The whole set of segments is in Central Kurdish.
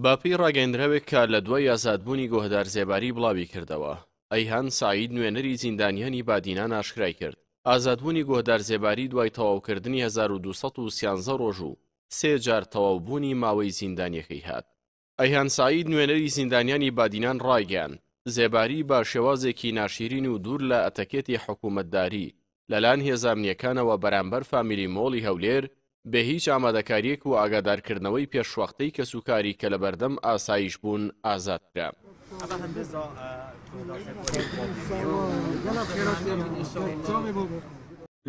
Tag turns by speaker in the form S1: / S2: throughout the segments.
S1: بەپێی ڕاگەیەندراوێک کە لە دوای ئازادبوونی گۆهدار زێباری بڵاویکردەوە، ئەیهان سەعید نوێنەری زیندانیانی بادینان ئاشکرای کرد، ئازادبوونی گۆهدار زێباری دوای تەواوکردنی 1213 ڕۆژ و سێ جار تەواوبوونی ماوەی زیندانیەکەی هات. ئەیهان سەعید نوێنەری زیندانیانی بادینان ڕایگەیاند، زێباری بە شێوازێکی ناشیرین و دوور لە ئەتەکێتی حکوومەتداری لەلایەن هێزە ئەمنییەکانەوە بەرامبەر فامیلی مۆڵی هەولێر بێ هیچ ئامادەکارییەک و ئاگادارکردنەوەی پێشوەختەی کەسوکاری کە لەبەردەم ئاسایش بوون ئازاد کرا.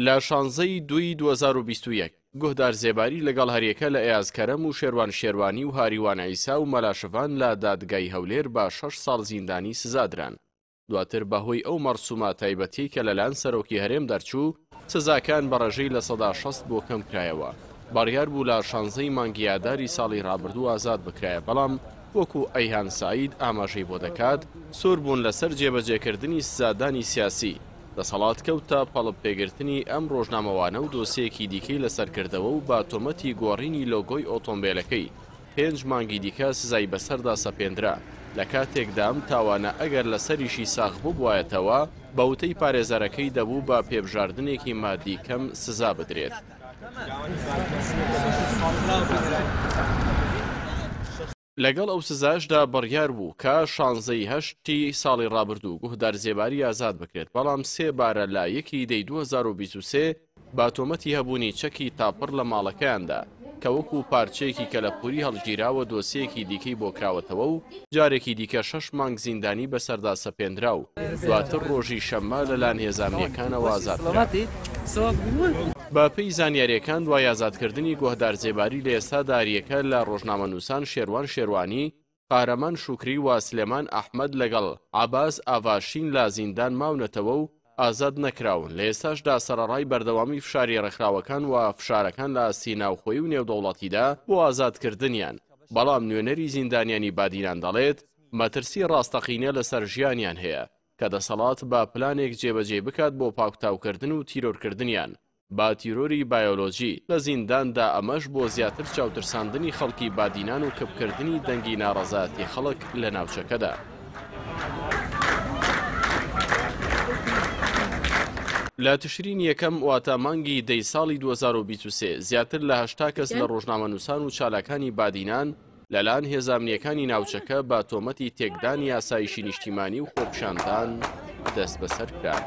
S1: لە شانزە ی دووی 2021 گوهدار زێباری لەگەڵ هەریەکە لە ئەیاز کەرەم و شێروان شێروانی و هاریوان عیسا و مەلا شڤان لە دادگای هەولێر بە شەش ساڵ زیندانی سزادران. دواتر بەهۆی ئەو مەرسومە تایبەتیەی کە لەلایەن سەرۆکی هەرێم دەرچوو، سزاکان بە ڕێژەی 60% بۆ کەمکرایەوە. بڕیار بوو لە شانزەی مانگی ئاداری ساڵی ڕابردوو ئازاد بکرایە، بەڵام وەکو ئەیهان سەعید ئاماژەی بۆ دەکات، سوور بوون لەسەر جێبەجێکردنی سزادانی سیاسی، دەسەڵات کەوتە پەڵپ پێگرتنی ئەم ڕۆژنامەوانە و دۆسیەیەکی دیکەی لەسەر کردەوە و بە تۆمەتی گۆڕینی لۆگۆی ئۆتۆمبێلەکەی پێنج مانگی دیکە سزای بەسەردا سەپێندرا، لە کاتێکدا ئەم تاوانە ئەگەر لەسەریشی ساغ ببوایەتەوە، بە وتەی پارێزەرەکەی دەبوو بە پێبژاردنێکی مادی کەم سزا بدرێت. لەگەڵ ئەو سزایەشدا بڕیار بوو کە شانزە ی هەشتی ساڵی ڕابردوو گوهدار زێباری ئازاد بکرێت، بەڵام سێ بارە لە یەکی دەی 2023 بە تۆمەتی هەبوونی چەکی تاپڕ لە ماڵەکەیاندا کە وەکو پارچەیەکی کەلەپووری هەڵگیراوە دۆسیەیەکی دیکەی بۆ کراوەتەوە و جارێکی دیکە شەش مانگ زیندانی بەسەردا سەپێنرا و دواتر ڕۆژی شەممە لەلایەن هێزە ئەمنییەکانەوە ئازاد کرا. بە پێی زانیارییەکان دوای ئازادکردنی گۆهدار زێباری لە ئێستادا هەریەکە لە ڕۆژنامەنووسان شێروان شێروانی، قارەمان شوکری و سلێمان ئەحمەد لەگەڵ عەباس ئاڤاشین لە زیندان ماونەتەوە و ئازاد نەکراون، لە ئێستاشدا سەرەڕای بەردەوامی فشاری ڕێکخراوەکان و فشارەکان لە ئاستی ناوخۆیی و نێودەوڵەتیدا بۆ ئازادکردنیان، بەڵام نوێنەری زیندانیانی بادینان دەڵێت، مەترسی ڕاستەقینە لەسەر ژیانیان هەیە کە دەسەڵات بە پلانێک جێبەجێی بکات بۆ پاکتاوکردن و تیرۆرکردنیان بە تیرۆری بایۆلۆجی لە زینداندا ئەمەش بۆ زیاتر چاوترساندنی خەڵکی بادینان و کپکردنی دەنگی ناڕەزایەتی خەڵک لە ناوچەکەدا. لە تشرینی یەکەم واتە مانگی دەی ساڵی 2023 زیاتر لە 80 کەس لە ڕۆژنامەنووسان و چالاکانی بادینان لەلایەن هێزە ئەمنییەکانی ناوچەکە بە تۆمەتی تێکدانی ئاسایشی نیشتیمانی و خۆپیشاندان دەستبەسەر کران.